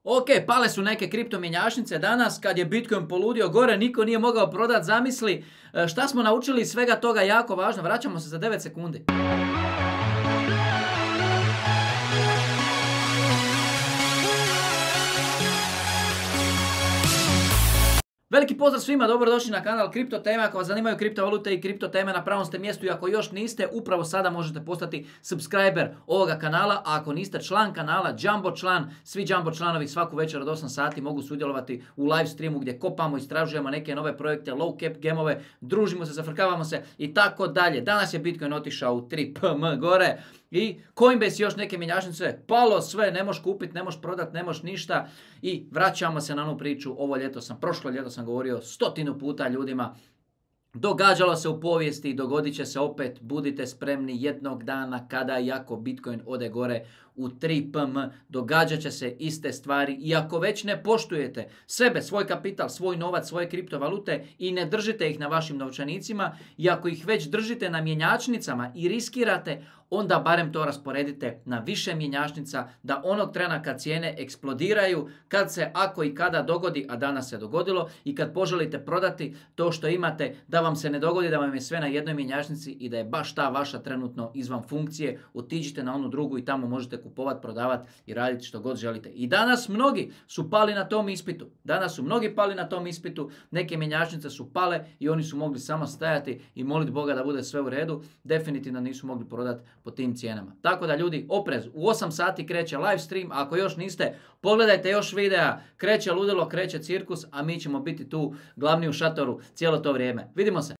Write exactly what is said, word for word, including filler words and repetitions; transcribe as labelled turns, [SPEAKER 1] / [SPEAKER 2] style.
[SPEAKER 1] Ok, pale su neke kriptomjenjačnice danas kad je Bitcoin poludio gore, niko nije mogao prodati, zamisli. Šta smo naučili iz svega toga, jako važno, vraćamo se za devet sekundi. Veliki pozdrav svima, dobrodošli na kanal Kripto Teme. Ako vas zanimaju kriptovalute i kripto teme, na pravom ste mjestu i ako još niste, upravo sada možete postati subscriber ovoga kanala, a ako niste član kanala, Jumbo član, svi Jumbo članovi svaku večer od osam sati mogu sudjelovati u live streamu gdje kopamo, istražujemo neke nove projekte, low cap gemove, družimo se, zafrkavamo se i tako dalje. Danas je Bitcoin otišao u tri P M gore i Coinbase još neke mjenjačnice, palo sve, ne možeš kupiti, ne možeš prodati, ne možeš ništa i vraćamo se na onu priču. Ovo ljeto sam, prošlo ljeto sam govorio stotinu puta ljudima, događalo se u povijesti, dogodit će se opet, budite spremni jednog dana kada i ako Bitcoin ode gore u tri P M, događat će se iste stvari i ako već ne poštujete sebe, svoj kapital, svoj novac, svoje kriptovalute i ne držite ih na vašim novčanicima i ako ih već držite na mjenjačnicama i riskirate, onda barem to rasporedite na više mjenjačnica da onog trena kad cijene eksplodiraju, kad se ako i kada dogodi, a danas se dogodilo, i kad poželite prodati to što imate, da vam se ne dogodi da vam je sve na jednoj mjenjačnici i da je baš ta vaša trenutno izvan funkcije, otiđite na onu drugu i tamo možete kupovati, prodavati i raditi što god želite. I danas mnogi su pali na tom ispitu. Danas su mnogi pali na tom ispitu, neke mjenjačnice su pale i oni su mogli samo stajati i moliti Boga da bude sve u redu. Definitivno nisu mogli prodati po tim cijenama. Tako da ljudi, oprez, u osam sati kreće live stream, ako još niste, pogledajte još videa, kreće ludilo, kreće cirkus, a mi ćemo biti tu glavni u šatoru cijelo to vrijeme. Vidimo se!